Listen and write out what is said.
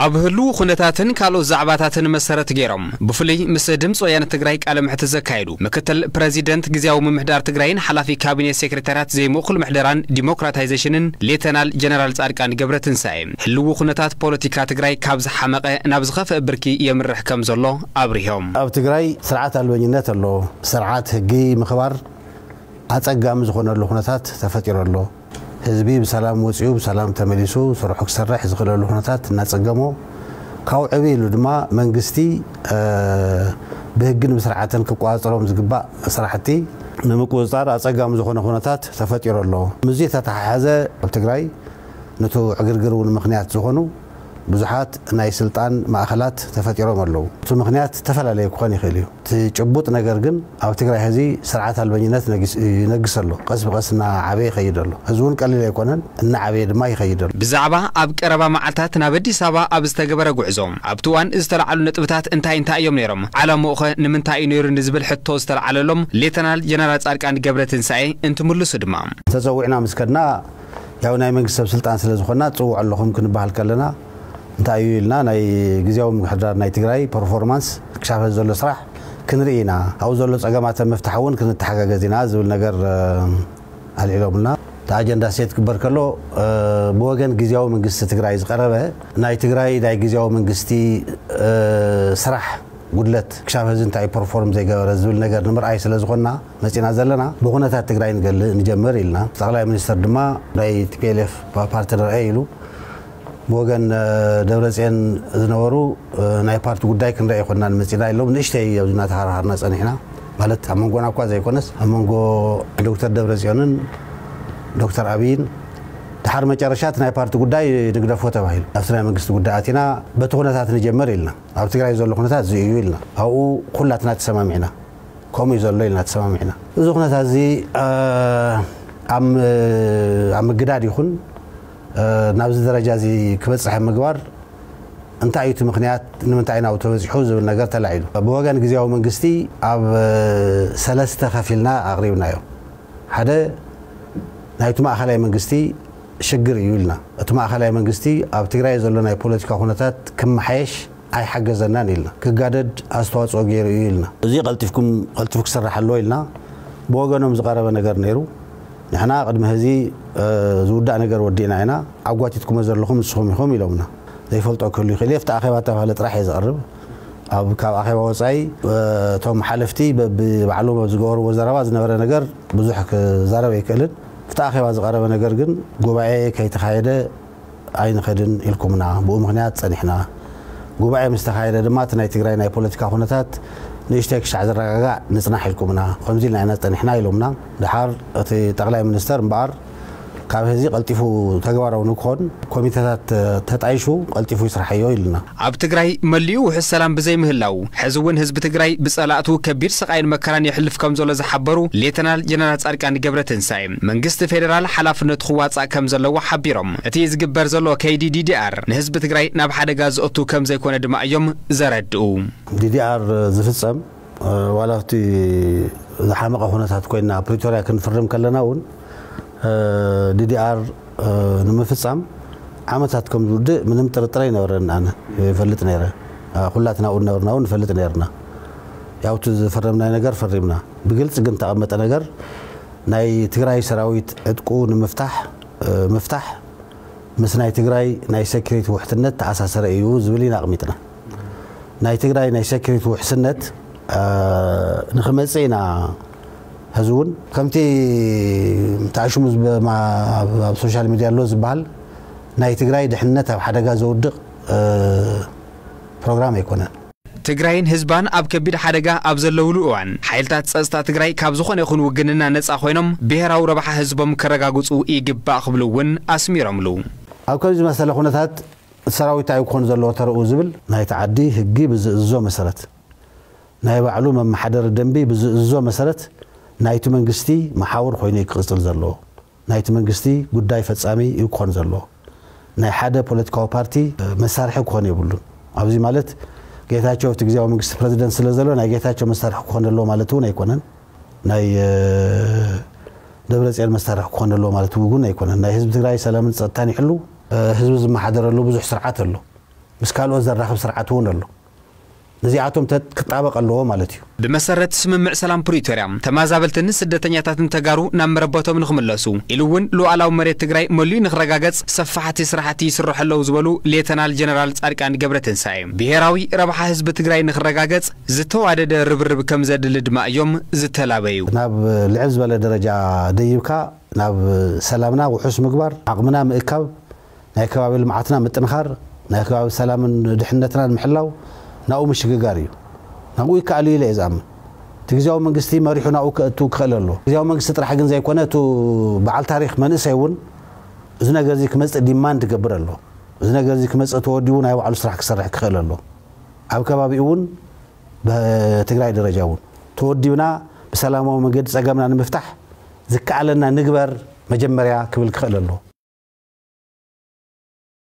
ኣብ ህልው ኩነታትን ካልኦት ዛዕባታትን መሰረት ገይሮም፣ ብፍሉይ ምስ ድምፂ ወያነ ትግራይ ቃለ ምሕትት ዘካየዱ ምክትል ፕረዚደንት ግዝያዊ ምምሕዳር ትግራይን ሓላፊ ካቢኔ ሴክሬታርያት ዘይምእኩል ምሕደራን ዲሞክራታይዜሽንን ሌተናል ጀነራል ፃድቃን ገብረትንሳኤ፣ ህልው ኩነታት ፖለቲካ ትግራይ ካብ ዝሓመቐ ናብ ዝኸፍአ ብርኪ የምርሕ ከም ዘሎ ኣብሪሆም። ኣብ ትግራይ ስርዓት ኣልበኝነት ኣሎ። ስርዓት ህጊ ምኽባር ኣጸጋሚ ዝኾነሉ ኩነታት ተፈጢሩ ኣሎ። ህዝቢ ብሰላም ወጺኡ ብሰላም ተመሊሱ ስርሑ ክሰርሕ ዝኽእለሉ ኩነታት እናጸገሞ፣ ካብኡ ዕብይ ኢሉ ድማ መንግስቲ፣ እ፣ ብህግን ብስርዓትን ክቆጻጸሮም ዝግባእ ስራሕቲ ንምቁጽጻር ኣጸጋሚ ዝኾነ ኩነታት ተፈጢሩ ኣሎ። ምስዚ ተተሓሓዘ ኣብ ትግራይ ነቲ ዕግርግር እውን ምኽንያት ዝኾኑ ብዙሓት ናይ ስልጣን ማእኸላት ተፈጢሮም ኣለዉ። እቲ ምኽንያት ዝተፈላለየ ክኾን ይኽእል እዩ። እቲ ጭቡጥ ነገር ግን ኣብ ትግራይ ሕዚ ስርዓት ኣልበኝነት ነጊስ-፣ ይነግስ ኣሎ። ቀስ ብቐስ እናዓበየ ይኸይድ ኣሎ። እዚ እውን ቀሊል ኣይኮነን፣ እናዓበየ ድማ ይኸይድ ኣሎ። ብዛዕባ ኣብ ቀረባ መዓልታት ናብ ኣዲስ ኣበባ ኣብ ዝተገበረ ጉዕዞ፣ ኣብቲ እዋን ዝተለዓሉ ነጥብታት እንታይ እንታይ እዮም ነይሮም? ዓላምኡኸ ንምንታይ እዩ ነይሩ ንዝብል ሕቶ ዝተለዓለሎም ሌተናል ጀነራል ጻድቃን ገብረትንሳኤ እንትምልሱ ድማ፣ ተጸዊዕና ምስ ከድና፣ ያው ናይ መንግስቲ ሰብ ስልጣን ስለ ዝኾንና፣ "ትጽውዑ ኣለኹም" ክንበሃል ከለና፣ እንታይ እዩ ኢልና፣ ናይ ግዝያዊ ምምሕዳር ናይ ትግራይ ፐርፎርማንስ ክሻፈ ዘሎ ስራሕ ክንርኢ ኢና። ኣብኡ ዘሎ ጸገማት ኣብ ምፍታሕ እውን ክንተሓጋገዝ ኢና ዝብል ነገር፣ እ፣ ኣልዒሎምልና። እቲ ኣጀንዳ ሴት ክግበር ከሎ፣ እ፣ ብወገን ግዝያዊ መንግስቲ ትግራይ ዝቐረበ ናይ ትግራይ ናይ ግዝያዊ መንግስቲ፣ እ፣ ስራሕ ጉድለት ክሻብ ሕዚ እንታይ ፐርፎርም ዘይገበረ ዝብል ነገር ንምርኣይ ስለ ዝኾንና መጺና ዘለና፣ ብኹነታት ትግራይ ንገል-፣ ንጀምር ኢልና። ጠቕላይ ሚኒስተር ድማ ናይ ቲ ፒ ኤል ኤፍ ፓ-፣ ፓርትነር እየ ኢሉ። ብወገን፣ እ፣ ደብረጽዮን ዝነበሩ፣ እ፣ ናይ ፓርቲ ጉዳይ ክንርኢ ኣይኮንናን መጺና ኢሎም ንእሽተይ ኣብዚ እናተሃራሃርና ጸኒሕና። ማለት ኣብ መንጎና እኳ ዘይኮነስ ኣብ መንጎ ዶክተር ደብረጽዮንን ዶክተር ኣብይን፣ ድሓር መጨረሻ እቲ ናይ ፓርቲ ጉዳይ ንግደፎ ተባሂሉ። ኣብቲ ናይ መንግስቲ ጉዳይ ኣቲና በቲ ኩነታት ንጀምር ኢልና። ኣብ ትግራይ ዘሎ ኩነታት እዚ እዩ ኢልና። ኣብኡ ኩላትና ተሰማሚዕና። ከምኡ እዩ ዘሎ ኢልና ተሰማሚዕና። እዚ ኩነታት እዚ፣ እ፣ ኣብ፣ ኣብ ምግዳድ ይኹን፣ እ፣ ናብዚ ደረጃ እዚ ክበጽሕ ኣብ ምግባር እንታይ እዩ እቲ ምኽንያት፣ ንምንታይ ናብኡ ተበጺሑ ዝብል ነገር ተላዒሉ። ብወገን ግዝያዊ መንግስቲ ኣብ፣ እ፣ ሰለስተ ከፊልና ኣቕሪብናዮ። ሓደ ናይቲ ማእኸላይ መንግስቲ ሽግር እዩ ኢልና። እቲ ማእኸላይ መንግስቲ ኣብ ትግራይ ዘሎ ናይ ፖለቲካ ኩነታት ክመሓየሽ ኣይሓገዘናን ኢልና። ክጋደድ ኣስተዋፅኦ ገይሩ እዩ ኢልና። እዚ ቀልጢፍኩም፣ ቀልጢፉ ክስራሕ ኣለዎ ኢልና ብወገኖም ዝቐረበ ነገር ነይሩ። ንሕና ቅድሚ ሕዚ፣ እ፣ ዝውዳእ ነገር ወዲእና ኢና። ኣጓቲትኩሞ ዘለኹም ንስኹም ኢኹም ኢሎምና። ዘይፈልጦ ክህሉ ይኽእል እዩ። ኣብቲ ኣኼባ እተባህለ ጥራሕ እየ ዝቐርብ። ኣብ፣ ካብ ኣኼባ ወጻኢ፣ እ፣ እቶም ሓለፍቲ በብባዕሎም ኣብ ዝገበርዎ ዘረባ ዝነበረ ነገር ብዙሕ ክዛረብ ኣይክእልን። ኣብቲ ኣኼባ ዝቐረበ ነገር ግን ጉባኤ ከይተኻየደ ኣይንኸድን ኢልኩምና፣ ብኡ ምኽንያት ጸኒሕና። ጉባኤ ምስ ተኻየደ ድማ እቲ ናይ ትግራይ ናይ ፖለቲካ ኩነታት ንእሽተይ ክሻዕ ዝረጋጋዕ ንጽናሕ ኢልኩምና፣ ከምዚ ኢልና ኢና ጸኒሕና ኢሎምና። ድሓር እቲ ጠቕላይ ሚኒስተር እምበኣር ካብ ሕዚ ቀልጢፉ ተግባራዊ ንክኾን ኮሚተታት ተጣይሹ ቀልጢፉ ይስርሓዮ ኢሉና። ኣብ ትግራይ መሊኡ ውሑስ ሰላም ብዘይምህላው፣ ሕዚ እውን ህዝቢ ትግራይ ብጸላእቱ ከቢድ ስቓይን መከራን የሕልፍ ከም ዘሎ ዝሓበሩ ሌተናል ጀነራል ጻድቃን ገብረትንሳኤ፣ መንግስቲ ፌደራል ሓላፍነቱ ክዋጻእ ከም ዘለዎ ሓቢሮም፣ እቲ ዝግበር ዘሎ ከይዲ ዲ ዲ ኣር ንህዝቢ ትግራይ ናብ ሓደጋ ዘእቱ ከም ዘይኮነ ድማ እዮም ዘረድኡ። ዲ ዲ ኣር ዝፍጸም፣ እ፣ ዋላ ኣብቲ ዝሓመቐ ኩነታት ኮይና ፕሪቶርያ ክንፍርም ከለና እውን፣ እ፣ ዲ ዲ ኣር፣ እ፣ ንምፍጻም ዓመታት ከም ዝውድእ ምንም ጥርጥር ኣይነበረን። ኣነ ይፈልጥ ነይረ። እ፣ ኩላትና እውን ነበርና እውን ንፈልጥ ነይርና። ያው እቲ ዝፈረምናዮ ነገር ፈሪምና። ብግልጺ ግን ተቐመጠ ነገር ናይ ትግራይ ሰራዊት ዕጥቁ ንምፍታሕ፣ እ፣ ምፍታሕ ምስ ናይ ትግራይ ናይ ሴኩሪቲ ውሕስነት ተኣሳሰረ እዩ ዝብል ኢና ኣቕሚጥና። ናይ ትግራይ ናይ ሴኩሪቲ ውሕስነት፣ እ፣ ንኽመጽእ ኢና። ሕዚ እውን ከምቲ ተኣሽሙ ዝብ-፣ ማ-፣ ኣብ፣ ኣብ ሶሻል ሚድያ ኣሎ ዝበሃል ናይ ትግራይ ድሕነት ኣብ ሓደጋ ዘውድቕ፣ እ፣ ፕሮግራም ኣይኮነን። ትግራይን ህዝባን ኣብ ከቢድ ሓደጋ ኣብ ዘለውሉ እዋን፣ ሓይልታት ጸጥታ ትግራይ ካብ ዝኾነ ይኹን ውግንና ነጻ ኮይኖም ብሄራዊ ረብሓ ህዝቦም ከረጋግጹ ይግባእ ክብሉ እውን ኣስሚሮምሉ። ኣብ ከምዚ መሰለ ኩነታት ሰራዊት እንታይ ክኾን ዘለዎ ተረኡ ዝብል ናይቲ ዓዲ ህጊ ብዝእዝዞ መሰረት፣ ናይ ባዕሉ መመሓደሪ ደንቢ ብዝእዝዞ መሰረት ናይቲ መንግስቲ መሓውር ኮይኑ እዩ ክቕጽል ዘለዎ። ናይቲ መንግስቲ ጉዳይ ፈጻሚ እዩ ክኾን ዘለዎ። ናይ ሓደ ፖለቲካዊ ፓርቲ መሳርሒ ክኾን የብሉን። ኣብዚ ማለት ጌታቸው እቲ ግዜያዊ መንግስቲ ፕረዚደንት ስለ ዘሎ ናይ ጌታቸው መሳርሒ ክኾን ኣለዎ ማለት እውን ኣይኮነን። ናይ፣ እ፣ ደብረጽዮን መሳርሒ ክኾን ኣለዎ ማለት እውን ኣይኮነን። ናይ ህዝቢ ትግራይ ሰላምን ጸጥታን ይሕሉ፣ እ፣ ህዝቢ ዝመሓደረሉ ብዙሕ ስርዓት ኣሎ። ምስ ካልኦት ዘራኽብ ስርዓት እውን ኣሎ። ነዚኣቶም ክጣበቕ ኣለዎ ማለት እዩ። ብመሰረት ስምምዕ ሰላም ፕሪቶርያ፣ ተመዛበልትን ስደተኛታትን ተጋሩ ናብ መረበቶም ንኽምለሱ ኢሉ እውን ሉዓላዊ መሬት ትግራይ መሊኡ ንኽረጋገፅ ሰፋሕቲ ስራሕቲ ይስርሑ ኣለዉ ዝበሉ ሌተናል ጀነራል ፃድቃን ገብረትንሳኤ፣ ብሄራዊ ረብሓ ህዝቢ ትግራይ ንኽረጋገፅ ዝተዋደደ ርብርብ ከም ዘድሊ ድማ እዮም ዝተላበዩ። ናብ ልዕል ዝበለ ደረጃ ደይብካ ናብ ሰላምና ውሑስ ምግባር፣ ዓቕምና ምእካብ፣ ናይ ከባቢ ልምዓትና ምጥንኻር፣ ናይ ከባቢ ሰላምን ድሕነትናን ምሕላው ናብኡ ምሽግጋር እዩ። ናብኡ ይከኣል እዩ ኢለ እየ ዝኣምን። እቲ ግዝያዊ መንግስቲ መሪሑ ናብኡ ከእቱ ክኽእል ኣለዎ። ግዝያዊ መንግስቲ ጥራሕ ግን ዘይኮነ፣ እቱ በዓል ታሪኽ መንእሰይ እውን እዚ ነገር እዚ ክመፅእ ዲማንድ ክገብር ኣለዎ። እዚ ነገር እዚ ክመፅእ ተወዲቡ ናይ ባዕሉ ስራሕ ክሰርሕ ክኽእል ኣለዎ። ኣብ ከባቢኡ እውን ብትግራይ ደረጃ እውን ተወዲብና ብሰላማዊ መንገዲ ፀገምና ንምፍታሕ ዝከኣለና ንግበር መጀመርያ ክብል ክኽእል ኣለዎ።